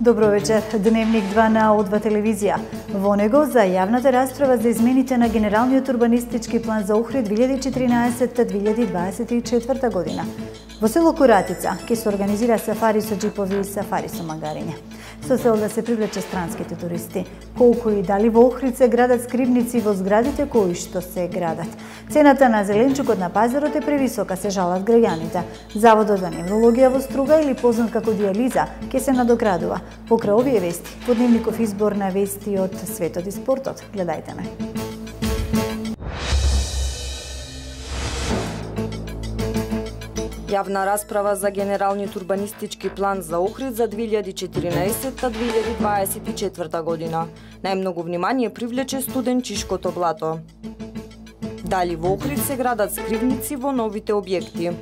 Добро вечер. Дневник 2 на О2 телевизија. Во него за јавната расправа за измените на Генералниот урбанистички план за Охрид 2014-2024 година. Во село Куратица ќе се организира сафари со џипови и сафари со магариња. Со цел да се привлече странските туристи. Колку и дали во Охрид се градат скривници во зградите кои што се градат. Цената на зеленчукот на пазарот е превисока, се жалат граѓаните. Заводот за неврологија во Струга, или познат како дијализа, ќе се надоградува. Покрај овие вести, во дневников избор на вести од светот и спортот. Гледајте ме. Јавна расправа за Генералниот урбанистички план за Охрид за 2014-2024 година. Најмногу внимание привлече студенчишкото блато. Дали во Охрид се градат скривници во новите објекти?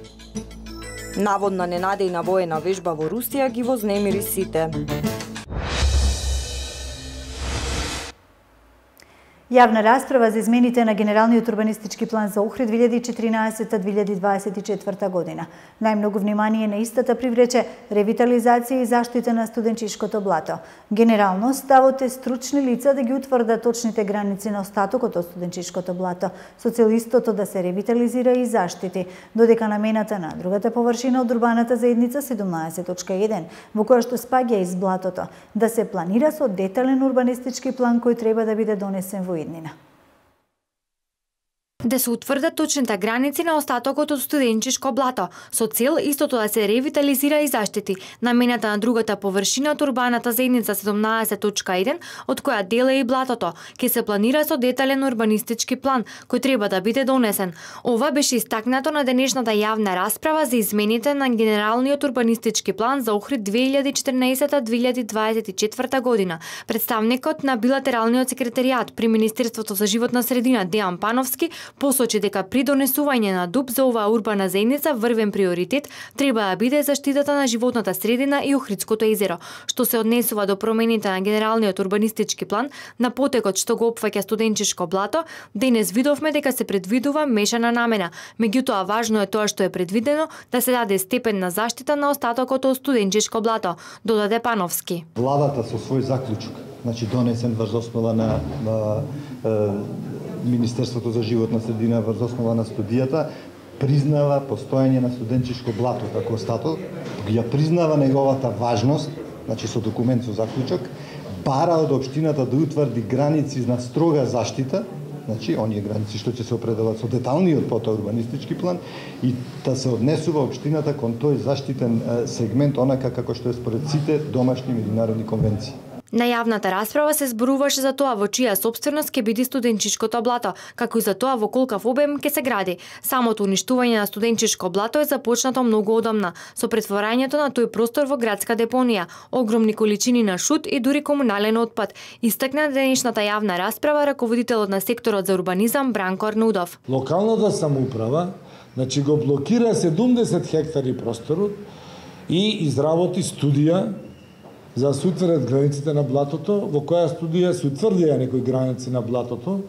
Наводна ненадејна воена вежба во Русија ги вознемири сите. Јавна расправа за измените на Генералниот урбанистички план за Охрид 2014-2024 година. Најмногу внимание на истата привлече ревитализација и заштита на студенчишкото блато. Генерално, ставот е стручни лица да ги утврдат точните граници на остатокот од студенчишкото блато, со цел истото да се ревитализира и заштити, додека намената на другата површина од урбаната заедница 17.1, во која што спаѓа из блатото, да се планира со детален урбанистички план кој треба да биде донесен во иднина. Да се утврдат точните граници на остатокот од студенчишко блато, со цел истото да се ревитализира и заштити, намената на другата површина од урбаната заедница 17.1, од која дел е и блатото, ќе се планира со детален урбанистички план, кој треба да биде донесен. Ова беше истакнато на денешната јавна расправа за измените на Генералниот урбанистички план за Охрид 2014-2024 година. Представникот на билатералниот секретаријат при Министерството за животна средина Дејан Пановски посочи дека при донесување на ДУП за оваа урбана заедница врвен приоритет треба да биде заштитата на животната средина и Охридското езеро, што се однесува до промените на Генералниот урбанистички план на потекот што го опфаќа студенчишко блато. Денес видовме дека се предвидува мешана намена, меѓутоа важно е тоа што е предвидено да се даде степен на заштита на остатокот од студенчишко блато, додаде Пановски. Владата со свој заклучок, донесен врз основа на Министерството за животна средина врз основа на студијата, признава постоење на студенчишко блато како остаток, ја признава неговата важност, со документ со заклучок, бара од општината да утврди граници на строга заштита, оние граници што ќе се определат со деталниот потоа урбанистички план, и да се однесува општината кон тој заштитен сегмент онака како што е според сите домашни меѓународни конвенции. На јавната расправа се зборуваше за тоа во чија сопственост ќе биде студенчишкото блато, како и за тоа во колкав обем ќе се гради. Самото уништување на студенчишко блато е започнато многу одамна, со претворањето на тој простор во градска депонија, огромни количини на шут и дури комунален отпад, истакна денешната јавна расправа раководителот на секторот за урбанизам Бранко Арнудов. Локалната самоуправа го блокира 70 хектари просторот и изработи студија за да се утврдат границите на блатото, во која студија се утврдија некои граници на блатото,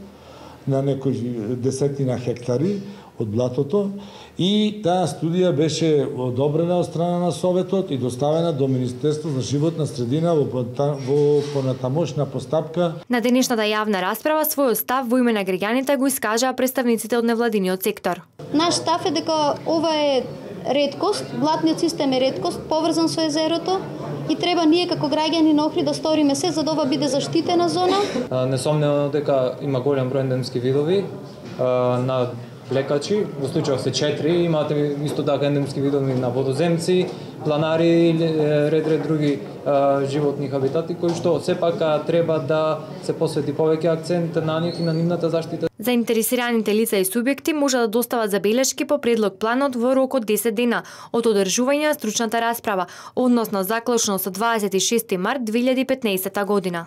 на некои десетина хектари од блатото, и таа студија беше одобрена од страна на Советот и доставена до Министерство за животна средина во понатамошна постапка. На денешната јавна расправа својот став во име на граѓаните го искажаа представниците од невладиниот сектор. Наш став е дека ова е реткост, блатниот систем е реткост, поврзан со езерото, и треба ние како граѓани на Охрид да сториме се за да ова биде заштитена зона. Несомнено дека има голем број ендемски видови на лекачи, во случајов се 4, имате исто така ендемски видови на водоземци, планари, ред други животни хабитати, кои што сепак треба да се посвети повеќе акцент на нив и на нивната заштита. Заинтересираните лица и субјекти може да достават забелешки по предлог планот во рок од 10 дена од одржување на стручната расправа, односно заклучно со 26 март 2015 година.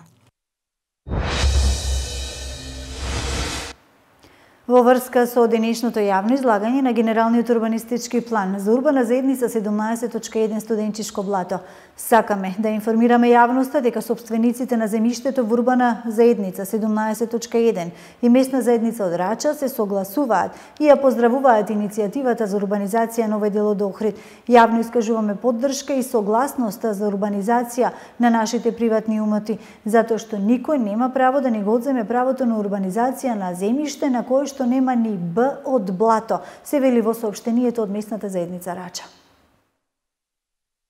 Во врска со денешното јавно излагање на генералниот урбанистички план за урбана заедница 17.1 студенчишко блато, сакаме да информираме јавноста дека сопствениците на земјиштето во урбана заедница 17.1 и местна заедница од Рача се согласуваат и ја поздравуваат иницијативата за урбанизација на овој дел од Охрид. Јавно искажуваме поддршка и согласноста за урбанизација на нашите приватни имоти, затоа што никој нема право да ни го одземе правото на урбанизација на земјиште на кое што нема ни Б од блато, се вели во соопштението од местната заедница Рача.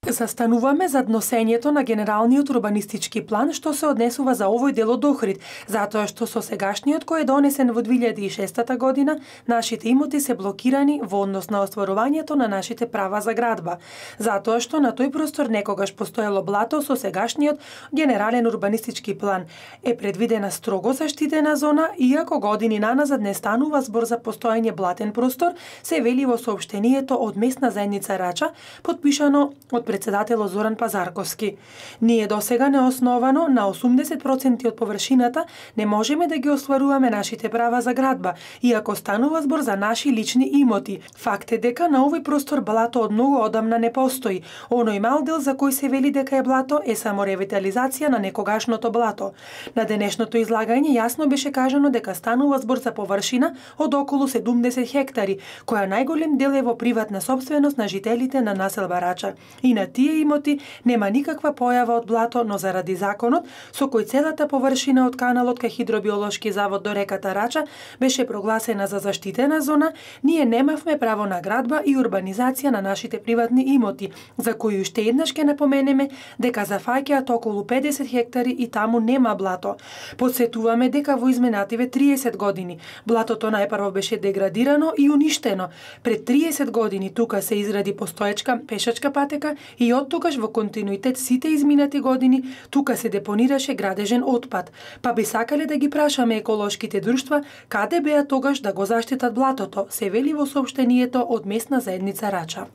Застануваме зад носењето на генералниот урбанистички план што се однесува за овој дел од Охрид, затоа што со сегашниот кој е донесен во 2006 година, нашите имоти се блокирани во однос на остварувањето на нашите права за градба, затоа што на тој простор некогаш постоело блато, со сегашниот генерален урбанистички план е предвидена строго заштитена зона, иако години наназад не станува збор за постоење блатен простор, се вели во соопштението од местна заедница Рача, подпишано од председателот Зоран Пазарковски. Ние досега неосновано на 80% од површината не можеме да ги остваруваме нашите права за градба, иако станува збор за наши лични имоти. Факт е дека на овој простор блато од многу одамна не постои. Оној мал дел за кој се вели дека е блато е само ревитализација на некогашното блато. На денешното излагање јасно беше кажано дека станува збор за површина од околу 70 хектари, која најголем дел е во приватна сопственост на жителите на населба Рача. И на тие имоти нема никаква појава од блато, но заради законот со кој целата површина од каналот кај Хидробиолошки завод до реката Рача беше прогласена за заштитена зона, ние немавме право на градба и урбанизација на нашите приватни имоти, за кои уште еднаш ќе напоменеме дека зафаќаат околу 50 хектари и таму нема блато. Подсетуваме дека во изминативе 30 години блатото најпрво беше деградирано и уништено. Пред 30 години тука се изгради постоечка пешачка патека и од тогаш во континуитет сите изминати години тука се депонираше градежен отпад. Па би сакале да ги прашаме еколошките друштва каде беа тогаш да го заштитат блатото, се вели во соопштението од местна заедница Рача.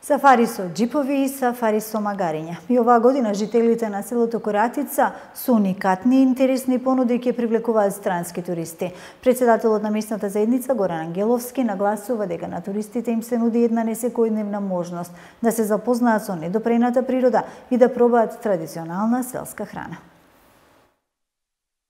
Сафари со џипови и сафари со магариња. И оваа година жителите на селото Коратица со уникатни и интересни понуди ќе привлекуваат странски туристи. Председателот на местната заедница Горан Ангеловски нагласува дека на туристите им се нуди една несекојдневна можност да се запознаат со недопрената природа и да пробаат традиционална селска храна.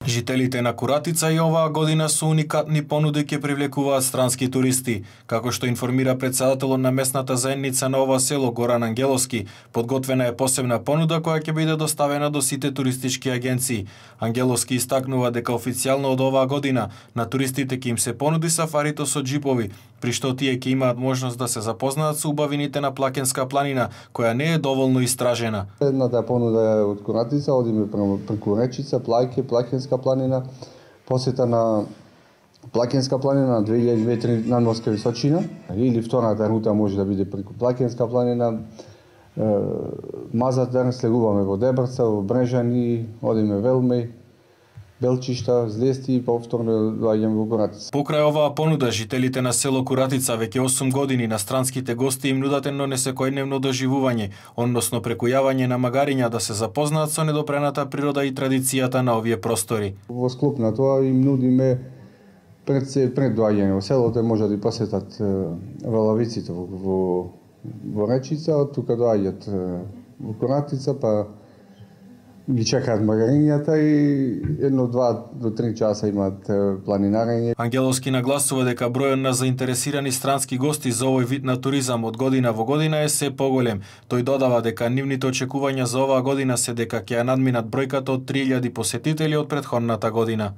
Жителите на Коратица и оваа година со уникатни понуди ќе привлекуваат странски туристи. Како што информира председателот на местната заедница на ова село Горан Ангеловски, подготвена е посебна понуда која ќе биде доставена до сите туристички агенции. Ангеловски истакнува дека официјално од оваа година на туристите ќе им се понуди сафарито со џипови, при што тие ќе имаат можност да се запознаат со убавините на Плакенска планина, која не е доволно истражена. Едната понуда е од Коратица, одиме преку Речица, Плакенска планина, посета на Плакенска планина на 2000 надморска височина, или втората рута може да биде преку Плакенска планина, Мазатар, слегуваме во Дебрца, во Брежани, одиме Велмеј, Белчишта, Злести и повторно доаѓаме во Коратица. Покрај оваа понуда, жителите на село Коратица веќе 8 години на странските гости им нудат едно несекојдневно доживување, односно преку јавање на магариња да се запознаат со недопрената природа и традицијата на овие простори. Во склоп на тоа им нудиме пред доаѓање во селото може да посетат валавиците во Речица, од тука доаѓаат во Коратица, па ги чекаат магарињата и 1-2 до 3 часа имаат планинарење. Ангеловски нагласува дека бројот на заинтересирани странски гости за овој вид на туризам од година во година е се поголем. Тој додава дека нивните очекувања за оваа година се дека ќе ја надминат бројката од 3000 посетители од претходната година.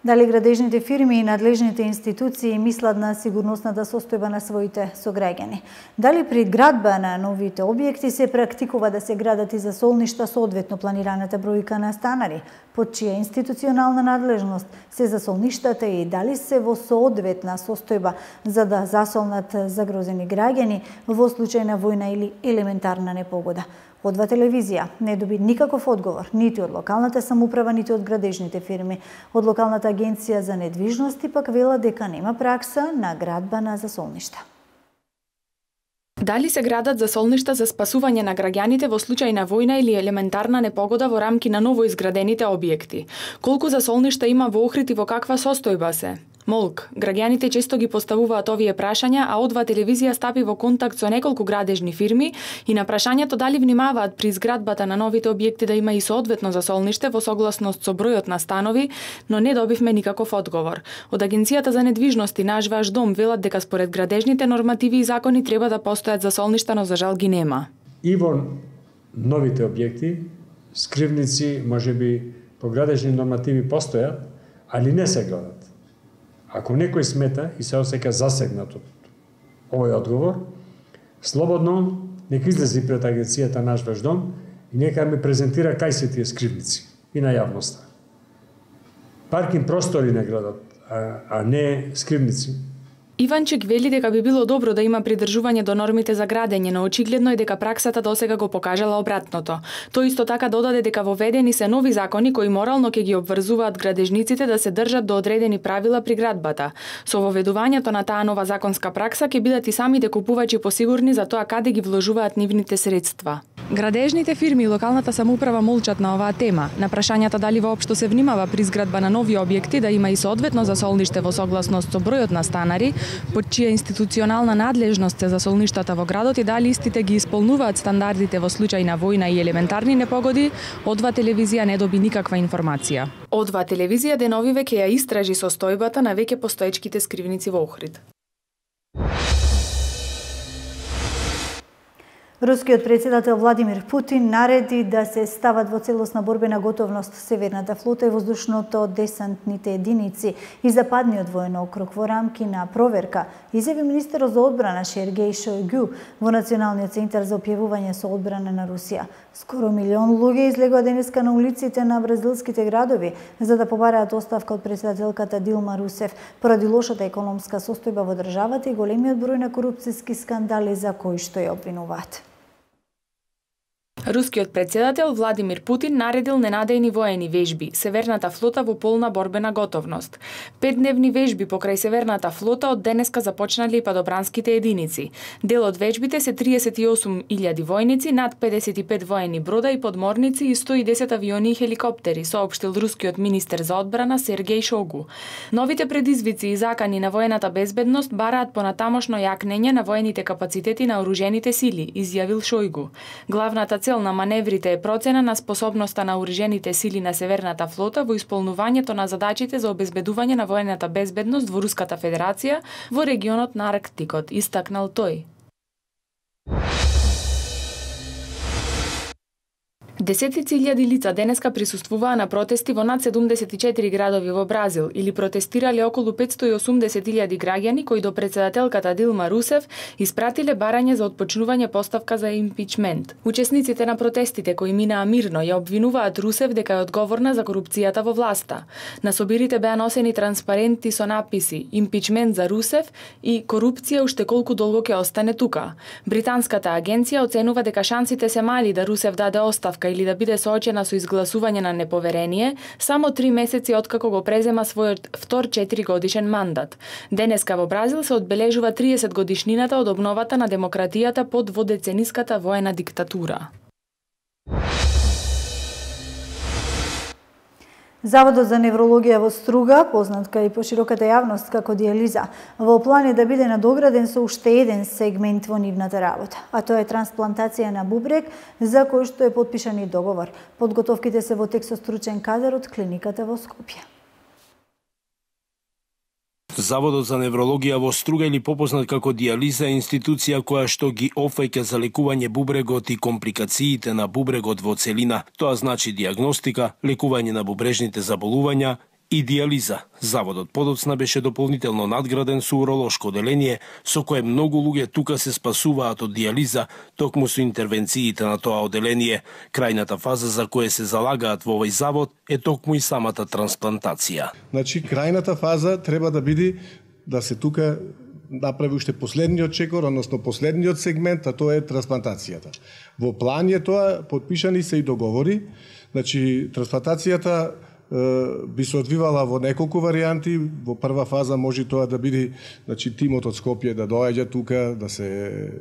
Дали градежните фирми и надлежните институции мислат на сигурносната состојба на своите сограѓани? Дали при градба на новите објекти се практикува да се градат и засолништа со одветно планираната бројка на станари? Под чија институционална надлежност се засолништата и дали се во соодветна состојба за да засолнат загрозени граѓани во случај на војна или елементарна непогода? Одва телевизија не доби никаков одговор, нити од локалната самоуправа, нити од градежните фирми. Од локалната агенција за недвижности пак вела дека нема пракса на градба на засолништа. Дали се градат засолништа за спасување на граѓаните во случај на војна или елементарна непогода во рамки на ново изградените објекти? Колку засолништа има во Охрид и во каква состојба се? Молк, граѓаните често ги поставуваат овие прашања, а О2 телевизија стапи во контакт со неколку градежни фирми и на прашањето дали внимаваат при изградбата на новите објекти да има и соодветно засолниште во согласност со бројот на станови, но не добивме никаков одговор. Од Агенцијата за недвижности Наш ваш дом велат дека според градежните нормативи и закони треба да постојат засолништа, но за жал ги нема. И во новите објекти, скривници можеби по градежни нормативи постојат, али не се градат. Ако некој смета и се осеќа засегнат од овој одговор, слободно нека излези пред агенцијата Наш ваш дом и нека ми презентира кај се тие скривници и на јавноста. Паркинг простори не градат, а не скривници. Иванчик вели дека би било добро да има придржување до нормите за градење, но очигледно е дека праксата досега го покажала обратното. Тој исто така додаде дека воведени се нови закони кои морално ќе ги обврзуваат градежниците да се држат до одредени правила при градбата. Со воведувањето на таа нова законска пракса ќе бидат и самите купувачи посигурни за тоа каде ги вложуваат нивните средства. Градежните фирми и локалната самоуправа молчат на оваа тема. На прашањата дали воопшто се внимава при изградба на нови објекти да има и соодветно засолниште во согласност со бројот на станари, под чија институционална надлежност се засолништата во градот и дали истите ги исполнуваат стандардите во случај на војна и елементарни непогоди, О2 телевизија не доби никаква информација. О2 телевизија деновиве ќе ја истражи состојбата на веќе постоечките скривници во Охрид. Рускиот председател Владимир Путин нареди да се стават во целосна борбена готовност Северната флота и воздушното десантните единици и западниот воен округ во рамки на проверка, изјави министерот за одбрана Сергеј Шојгу во Националниот центар за опјавување со одбрана на Русија. Скоро 1 милион луѓе излегоа денеска на улиците на бразилските градови за да побараат оставка од председателката Дилма Русев поради лошата економска состојба во државата и големиот број на корупцијски скандали за кои што ја обвинуваат. Рускиот председател Владимир Путин наредил ненадејни воени вежби, Северната флота во полна борбена готовност. 5-дневни вежби покрај Северната флота од денеска започнале и падобранските единици. Дел од вежбите се 38.000 војници, над 55 воени брода и подморници и 110 авиони и хеликоптери, соопштил рускиот министер за одбрана Сергеј Шойгу. Новите предизвици и закани на воената безбедност бараат понатамошно јакнење на воените капацитети на оружените сили, изјавил Шойгу. Главната цел на маневрите е процена на способноста на оружените сили на Северната флота во исполнувањето на задачите за обезбедување на воената безбедност во Руската Федерација во регионот на Арктикот, истакнал тој. Десетици илјади лица денеска присуствуваа на протести во над 74 градови во Бразил или протестирале околу 580.000 граѓани кои до председателката Дилма Русев испратиле барање за отпочнување поставка за импичмент. Учесниците на протестите кои минаа мирно ја обвинуваат Русев дека е одговорна за корупцијата во власта. На собирите беа носени транспаренти со написи «Импичмент за Русев» и «Корупција уште колку долго ќе остане тука». Британската агенција оценува дека шансите се мали да Русев даде оставка или да биде соочена со изгласување на неповерение само 3 месеци откако го презема својот втор 4-годишен мандат. Денеска во Бразил се одбележува 30 годишнината од обновата на демократијата под водецениската воена диктатура. Заводот за неврологија во Струга, познат кај пошироката јавност како дијализа, во план е да биде надограден со уште еден сегмент во нивната работа, а тоа е трансплантација на бубрек, за кој што е потпишан и договор. Подготовките се во тек со стручен кадар од клиниката во Скопје. Заводот за неврологија во Струга или попознат како дијализа е институција која што ги опфаќа за лекување бубрегот и компликациите на бубрегот во целина. Тоа значи дијагностика, лекување на бубрежните заболувања и дијализа. Заводот подоцна беше дополнително надграден со уролошко оделение, со кое многу луѓе тука се спасуваат од дијализа, токму со интервенциите на тоа оделение. Крајната фаза за која се залагаат во овој завод е токму и самата трансплантација. Значи, крајната фаза треба да биде да се тука направи уште последниот чекор, односно последниот сегмент, а тоа е трансплантацијата. Во план е тоа, подпишани се и договори. Значи, трансплантацијата би се одвивала во неколку варијанти. Во прва фаза може тоа да биде, значи, тимот од Скопје да доаѓа тука, да се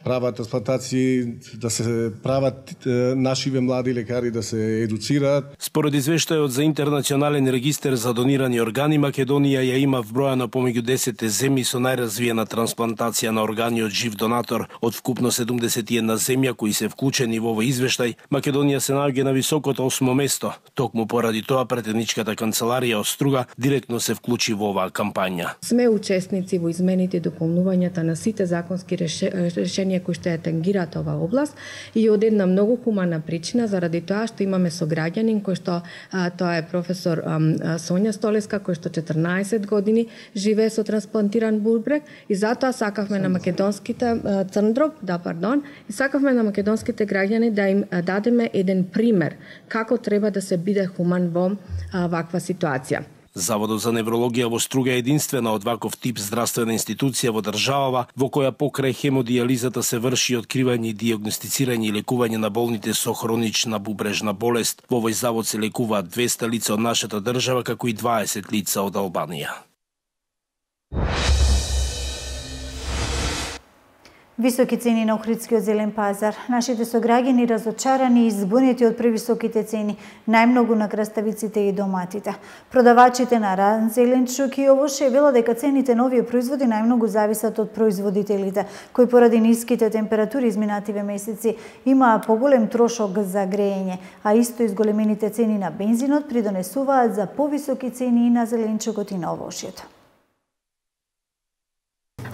прават трансплантации, да се прават нашиве млади лекари да се едуцираат. Според извештајот за интернационален регистер за донирани органи, Македонија ја има вбројано помеѓу 10 земји со најразвиена трансплантација на органи од жив донатор. Од вкупно 71 земја кои се вклучени во овој извештај, Македонија се наоѓа на високото 8 место. Токму поради тоа претедничката канцеларија од Струга директно се вклучи во оваа кампања. Сме учесници во измените и дополнувањата на сите законски решенија кои што ја тангираат оваа област и од една многу хумана причина, заради тоа што имаме сограѓанин кој што тоа е професор Сонја Столеска, кој што 14 години живее со трансплантиран бубрек и затоа сакавме на македонските и сакавме на македонските граѓани да им дадеме еден пример како треба да се биде хуман во ваква ситуација. Заводот за неврологија во Струга е единствена од ваков тип здравствена институција во државава во која покрај хемодијализата се врши откривање, дијагностицирање и лекување на болните со хронична бубрежна болест. Во овој завод се лекуваат 200 лица од нашата држава, како и 20 лица од Албанија. Високи цени на Охридскиот зелен пазар. Нашите сограѓани разочарани и збунети од превисоките цени, најмногу на краставиците и доматите. Продавачите на ран, зеленчук и овоше велат дека цените на овие производи најмногу зависат од производителите, кои поради ниските температури изминативе месеци имаа поголем трошок за грејење, а исто изголемените цени на бензинот придонесуваат за повисоки цени и на зеленчукот и на овошјето.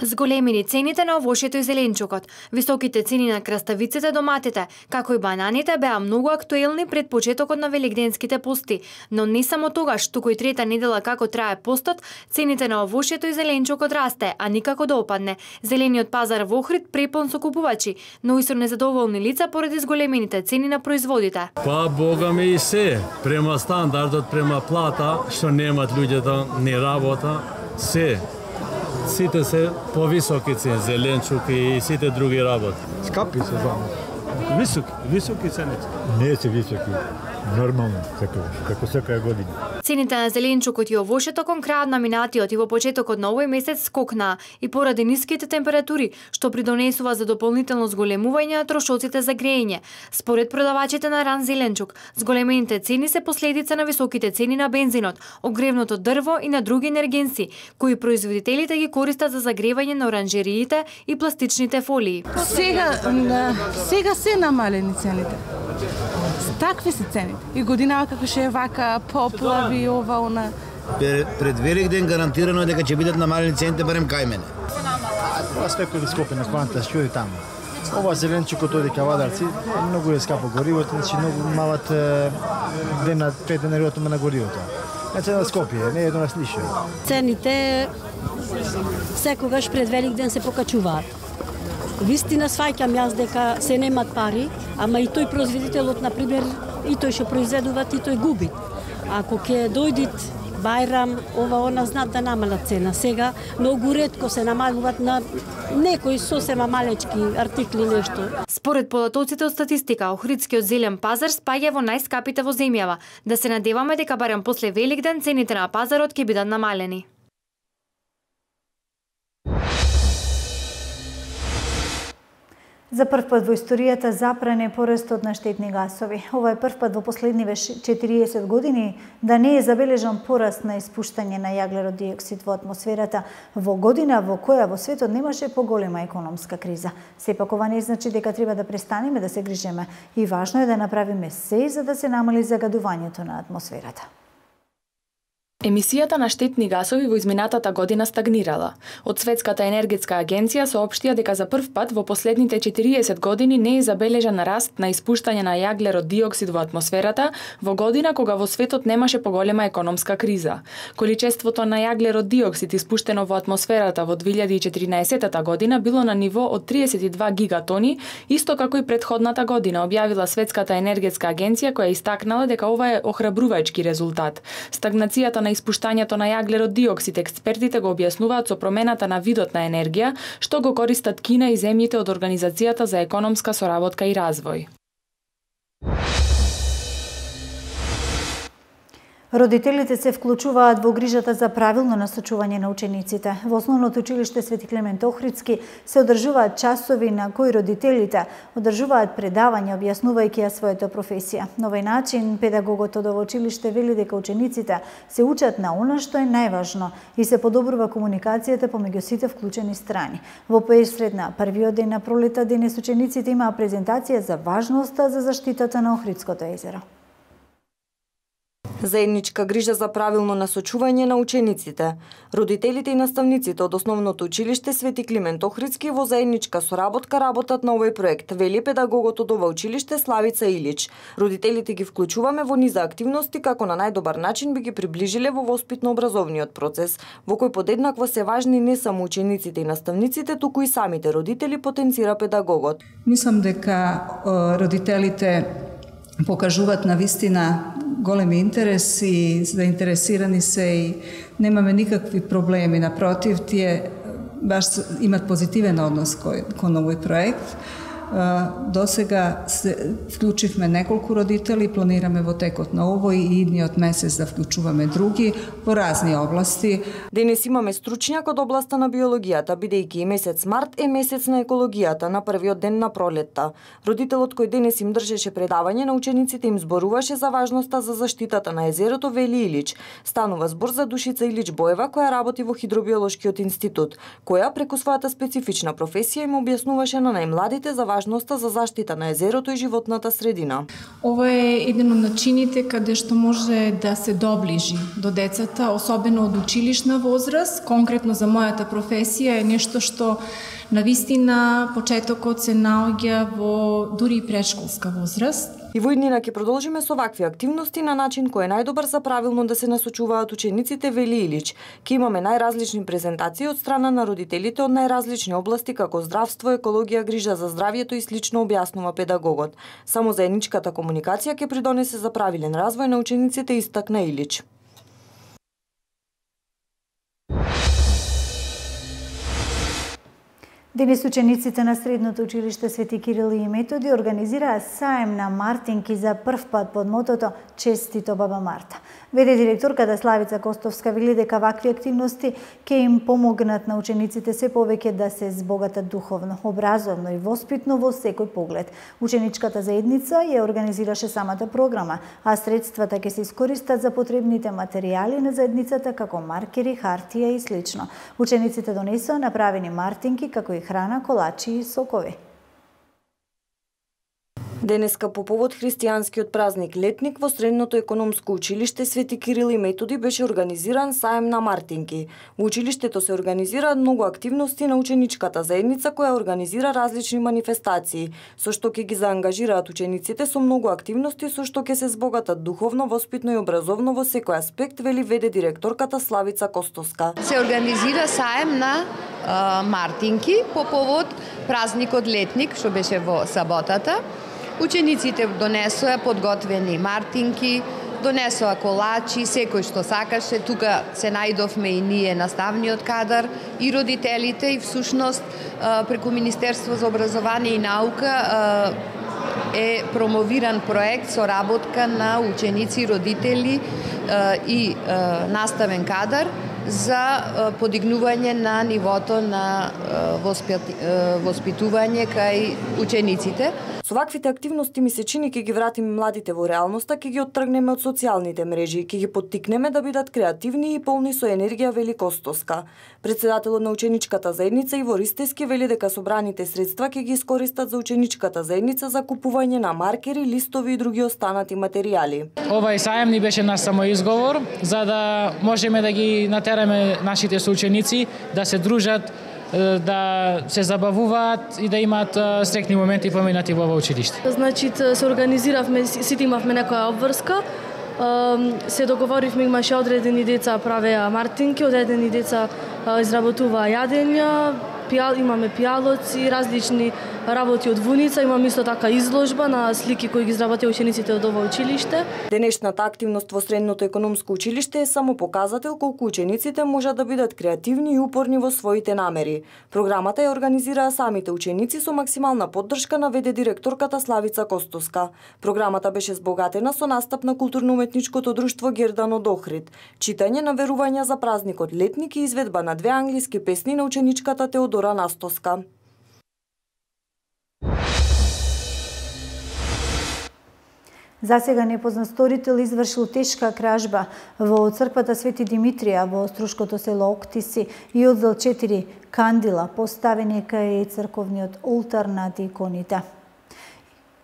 Зголемени цените на овошјето и зеленчукот, високите цени на краставиците, доматите, како и бананите беа многу актуелни пред почетокот на велигденските пости, но не само тогаш, туку и трета недела како трае постот, цените на овошјето и зеленчукот расте, а никако да опадне. Зелениот пазар во Охрид препон со купувачи, но и со незадоволни лица поради зголемените цени на производите. Па бога ми и се, према стандардот, према плата, што немат луѓето ни работа, се. Сите се повисоки цени, зеленчук и сите други работи. Скапи се зона. Високи цените. Не се високи. Нормално, како секоја година. Цените на зеленчукот и овошјето кон крајот на минатиот и во почетокот на овој месец скокнаа и поради ниските температури, што придонесува за дополнително зголемување на трошоците за грејење. Според продавачите на ран зеленчук, зголемените цени се последица на високите цени на бензинот, огревното дрво и на други енергенси, кои производителите ги користат за загревање на оранжериите и пластичните фолии. Сега се намалени цените. Такви се цените. И годинава како ше е вака, поплави, ова, она. Пред Великден гарантирано е дека ќе бидат намалени цените барем кај мене. Ова свеко да скопи на кванта шури таму. Ова зеленчукот оди ка Вадарци, многу е скапо горивото, значи многу малат дена 5 денари на горивото. Значи на Скопје, не е до нас ништо. Цените секогаш пред Великден се покачуваат. Вистина сваќам јас дека се немат пари, ама и тој производителот, например, и тој што произведуваат, и тој губи. Ако ќе дојдит Бајрам, ова она знаат да намалат цена. Сега многу ретко се намалуваат на некои сосема малечки артикли нешто. Според податоците од статистика, Охридскиот зелен пазар спаѓа во најскапите во земјава. Да се надеваме дека барем после Великден цените на пазарот ќе бидат намалени. За прв пат во историјата запран е порастот на штетни гасови. Ова е прв пат во последниве 40 години да не е забележан пораст на испуштање на јаглерод диоксид во атмосферата во година во која во светот немаше поголема економска криза. Сепак ова не значи дека треба да престанеме да се грижеме и важно е да направиме се за да се намали загадувањето на атмосферата. Емисијата на штетни гасови во изминатата година стагнирала. Од Светската енергетска агенција соопштија дека за прв пат во последните 40 години не е забележан раст на испуштање на јаглерод диоксид во атмосферата во година кога во светот немаше поголема економска криза. Количеството на јаглерод диоксид испуштено во атмосферата во 2014 година било на ниво од 32 гигатони, исто како и претходната година, објавила Светската енергетска агенција која истакнала дека ова е охрабрувачки резултат. Стагнацијата на испуштањето на јаглерод диоксид експертите го објаснуваат со промената на видот на енергија, што го користат Кина и земјите од Организацијата за економска соработка и развој. Родителите се вклучуваат во грижата за правилно насочување на учениците. Во Основното училиште Свети Климент Охридски се одржуваат часови на кои родителите одржуваат предавања објаснувајќи ја својата професија. На овој начин педагогот од ово училиште вели дека учениците се учат на она што е најважно и се подобрува комуникацијата помеѓу сите вклучени страни. Во посред на првиот ден на пролета денес учениците имаа презентација за важноста за заштитата на Охридското езеро. Заедничка грижа за правилно насочување на учениците. Родителите и наставниците од Основното училиште Свети Климент Охридски во заедничка соработка работат на овој проект, вели педагогот од ова училиште Славица Илич. Родителите ги вклучуваме во низа активности како на најдобар начин би ги приближиле во воспитно-образовниот процес, во кој подеднакво се важни не само учениците и наставниците, туку и самите родители, потенцира педагогот. Мислам дека родителите покажуваат на вистина големи интерес и заинтересирани се и немаме никакви проблеми. Напротив, тие баш имат позитивен однос кон овој проект. До сега се вклучивме неколку родители, планираме во текот на овој и идниот месец да вклучуваме други во разни области. Денес имаме стручњак од областа на биологијата, бидејќи и месец март е месец на екологијата, на првиот ден на пролетта. Родителот кој денес им држеше предавање на учениците им зборуваше за важноста за заштитата на езерото, вели Илич. Станува збор за Душица Илич Боева, која работи во Хидробиолошкиот институт, која преку својата специфична професија им објаснуваше на најмладите за важноста за заштита на езерото и животната средина. Ова е еден од начините каде што може да се доближи до децата, особено од училишна возраст. Конкретно за мојата професија е нешто што навистина почетокот се наоѓа во дури и претшколска возраст. И во иднина ќе продолжиме со вакви активности на начин кој е најдобар за правилно да се насочуваат учениците, вели Илич. Ке имаме најразлични презентации од страна на родителите од најразлични области како здравство, екологија, грижа за здравјето и слично, објаснува педагогот. Само заедничката комуникација ќе придонесе за правилен развој на учениците, истакна Илич. Денес учениците на Средното училиште Свети Кирил и Методи организираа саем на мартинки за прв пат под мотото "Честито баба Марта". Веде директорката Славица Костовска вели дека вакви активности ќе им помогнат на учениците се повеќе да се збогатат духовно, образовно и воспитно во секој поглед. Ученичката заедница ја организираше самата програма, а средствата ќе се искористат за потребните материјали на заедницата како маркери, хартија и слично. Учениците донесоа направени мартинки како и храна, колачи и сокови. Денеска по повод христијанскиот празник Летник во Средното економско училиште Свети Кирил и Методи беше организиран саем на мартинки. Во училиштето се организираат многу активности на ученичката заедница која организира различни манифестации, со што ќе ги заангажираат учениците со многу активности со што ќе се збогатат духовно, воспитно и образовно во секој аспект, вели веде директорката Славица Костовска. Се организира саем на мартинки по повод празникот Летник, што беше во саботата. Учениците донесоа подготвени мартинки, донесоа колачи, секој што сакаше. Тука се најдовме и ние, наставниот кадар, и родителите, и всушност преку Министерство за образование и наука е промовиран проект со работка на ученици, родители и наставен кадар за подигнување на нивото на воспитување кај учениците. Со ваквите активности ми се чини ќе ги вратиме младите во реалноста, ќе ги оттргнеме од социјалните мрежи, ќе ги поттикнеме да бидат креативни и полни со енергија, вели Костовска. Председателот на ученичката заедница Иво Ристески вели дека собраните средства ќе ги искористат за ученичката заедница за купување на маркери, листови и други останати материјали. Овај саем ни беше наш самоизговор за да можеме да ги натераме нашите соученици да се дружат, да се забавуваат и да имаат среќни моменти поминати во ова училиште. Значи се организиравме, сите имавме некоја обврска, се договоривме, имаше одредени деца правеа мартинки, одредени деца изработуваа јадења, имаме пијалоци, различни работи од вуница, имам исто така изложба на слики кои ги изработија учениците од ова училиште. Денешната активност во Средното економско училиште е само показател колку учениците можат да бидат креативни и упорни во своите намери. Програмата ја организираа самите ученици со максимална поддршка наведе директорката Славица Костовска. Програмата беше збогатена со настап на културно-уметничкото друштво Гердан од Охрид, читање на верувања за празникот Летник и изведба на 2 англиски песни на ученичката Теодора Настоска. Засега непознат сторител извршил тешка кражба во црквата Свети Димитрија во острушкото село Октиси и одзел 4 кандила поставени кај црковниот олтар над иконите.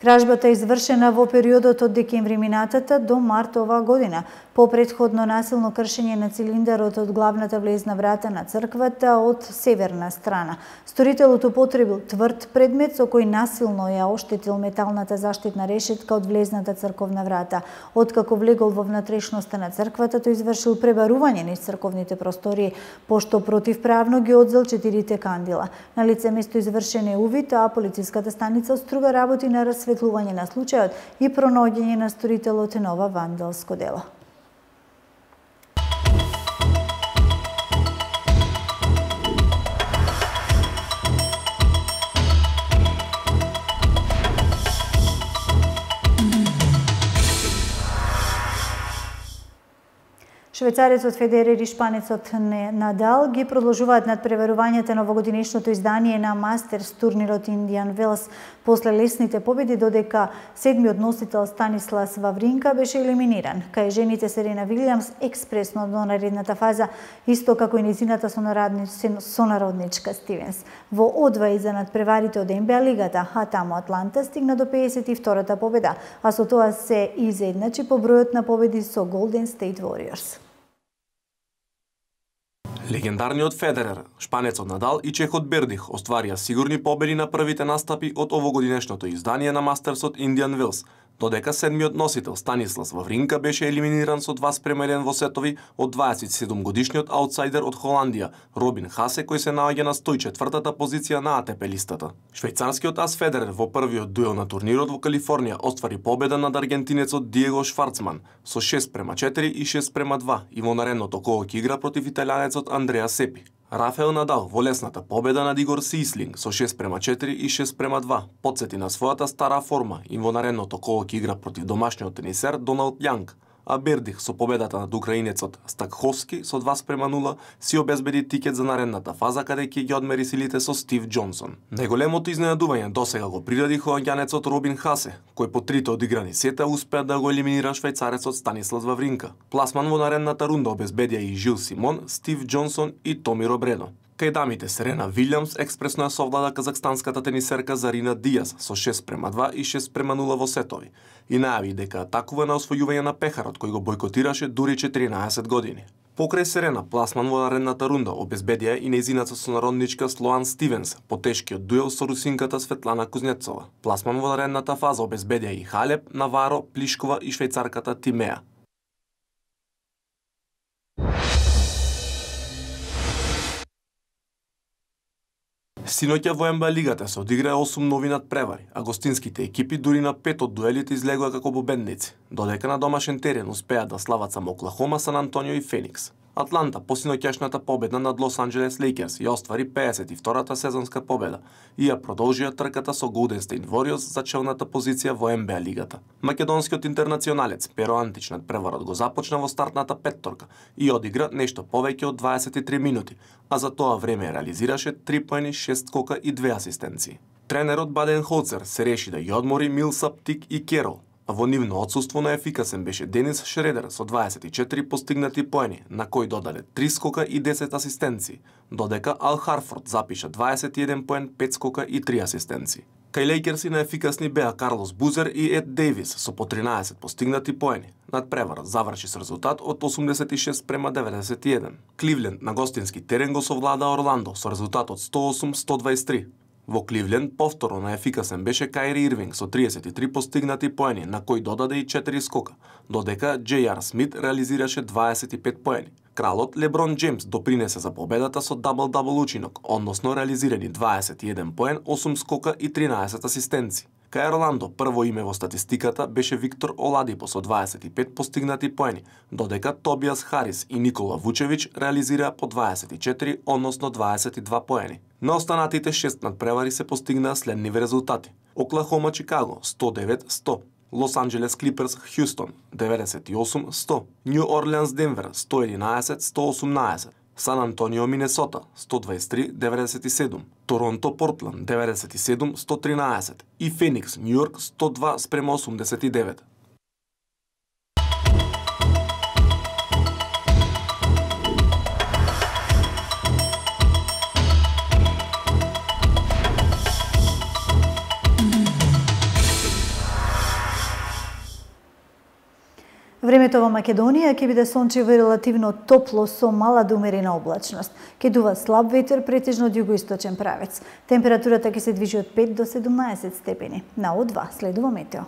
Кражбата е извршена во периодот од декември минатата до март оваа година, по претходно насилно кршење на цилиндарот од главната влезна врата на црквата од северна страна. Сторителот употребил тврд предмет со кој насилно ја оштетил металната заштитна решетка од влезната црковна врата. Откако влегол во внатрешноста на црквата, тој извршил пребарување низ црковните простории, пошто противправно ги одзел 4 кандила. На лице место извршен е увид, а полициската станица оструга работи на расветлување на случајот и пронаоѓање на сторителот на ова вандалско дело. Швајцарецот Федерер и шпанецот Надал ги продолжуваат надпреварувањата на овогодинешното издание на Мастерс турнирот Индиан Велс после лесните победи, додека седмиот носител Станислас Вавринка беше елиминиран. Кај жените Серена Вилијамс експресно до наредната фаза, исто како и незината сонародничка Стивенс. Во одвај за надпреварите од НБА лигата, а таму Атланта стигна до 52-та победа, а со тоа се изедначи по бројот на победи со Golden State Warriors. Легендарниот Федерер, шпанецот Надал и чехот Бердих остварија сигурни победи на првите настапи од овогодинешното издание на Мастерсот Индиан Велс, додека седмиот носител Станислас Вавринка беше елиминиран со 2:1 во сетови од 27-годишниот аутсайдер од Холандија, Робин Хасе, кој се наоѓа на 104-та позиција на АТП листата. Швајцарскиот ас Федерер во првиот дуел на турнирот во Калифорнија оствари победа над аргентинецот Диего Шварцман со 6:4 и 6:2 и во наредното коло ќе игра против италијанецот Андреа Сепи. Рафаел Надал во лесната победа над Игор Сислинг со 6:4 и 6:2 потсети на својата стара форма и во наредното коло ќе игра против домашниот тенисер Доналд Јанг, а Бердих со победата над украинецот Стакховски со 2:0 си обезбеди тикет за наредната фаза каде ќе ги одмери силите со Стив Џонсон. Најголемото изненадување досега го приреди холандјанецот Робин Хасе, кој по трите одиграни сета успеа да го елиминира швајцарецот Станислас Вавринка. Пласман во наредната рунда обезбедија и Жил Симон, Стив Џонсон и Томи Робредо. Кај дамите Серена Вилијамс експресно ја совлада казахстанската тенисерка Зарина Дијас со 6:2 и 6:0 во сетови и најави дека атакува на освојување на пехарот кој го бойкотираше дури 14 години. Покрај Серена, пласман во наредната рунда обезбедија и нејзината сонародничка Слоан Стивенс по тешкиот дуел со русинката Светлана Кузнецова. Пласман во наредната фаза обезбедија и Халеп, Наваро, Плишкова и швајцарката Тимеа. Синоќа во НБА лигата се одиграа 8 нови надпревари, а гостинските екипи дури на 5 од дуелите излегоа како победници, додека на домашен терен успеа да слават само Оклахома, Сан Антонио и Феникс. Атланта по синоќашната победа над Лос Анџелес Лейкерс ја оствари 52-та сезонска победа и ја продолжија трката со Голден Стейт Вориорс за челната позиција во НБА лигата. Македонскиот интернационалец Перо Антич надпреварот го започна во стартната петторка и одигра нешто повеќе од 23 минути, а за тоа време реализираше 3 поени, 6 скока и 2 асистенции. Тренерот Баден Холцер се реши да ја одмори Милсап, Тик и Керол, а во нивно отсуство наефикасен беше Денис Шредер со 24 постигнати поени, на кој додаде 3 скока и 10 асистенции, додека Ал Харфорд запиша 21 поен, 5 скока и 3 асистенции. Кај Лейкерси наефикасни беа Карлос Бузер и Ед Дейвис со по 13 постигнати поени. Надпреварот заврши со резултат од 86:91. Кливленд на гостински терен го совлада Орландо со резултат од 108-123. Во Кливленд повторно наефикасен беше Каири Ирвинг со 33 постигнати поени, на кој додаде и 4 скока, додека J.R. Смит реализираше 25 поени. Кралот Леброн Джеймс допринесе за победата со дабл-дабл учинок, односно реализирани 21 поен, 8 скока и 13 асистенци. Кај Орландо прво име во статистиката беше Виктор Оладипо со 25 постигнати поени, додека Тобиас Харис и Никола Вучевич реализираа по 24, односно 22 поени. На останатите 6 надпревари се постигнаа следниви резултати. Оклахома Чикаго 109-100, Лос Анџелес Клиперс Хјустон 98-100, Њу Орлеанс Денвер 111-118, Сан Антонио Минесота 123-97, Торонто Портланд 97-113 и Феникс Њујорк 102-89. Времето во Македонија ќе биде сончево и релативно топло со мала до умерена облачност. Ќе дува слаб ветер претежно од југоисточен правец. Температурата ќе се движи од 5 до 17 степени. На О2 следува метео.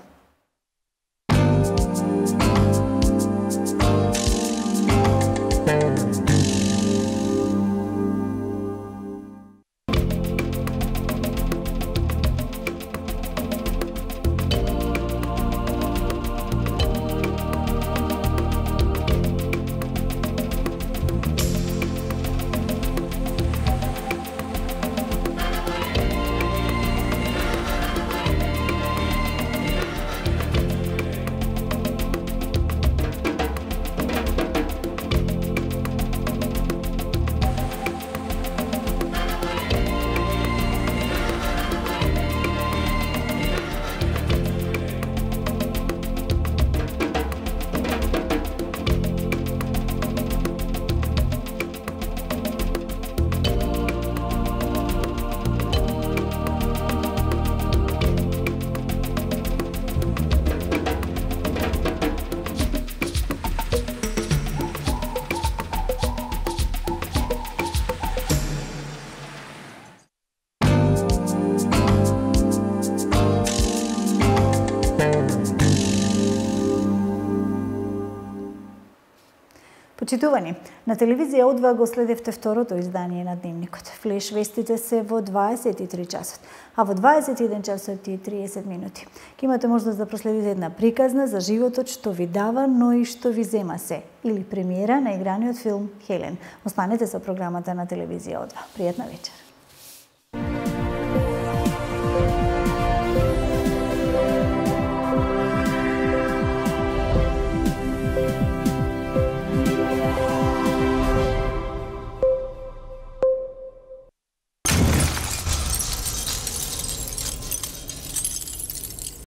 Почитувани, на телевизија О2 го следевте второто издание на Дневникот. Флеш вестите се во 23 часот, а во 21 часот и 30 минути. Ке имате можност да проследите една приказна за животот што ви дава, но и што ви зема се, или премиера на играниот филм Хелен. Останете со програмата на телевизија О2. Пријатна вечер.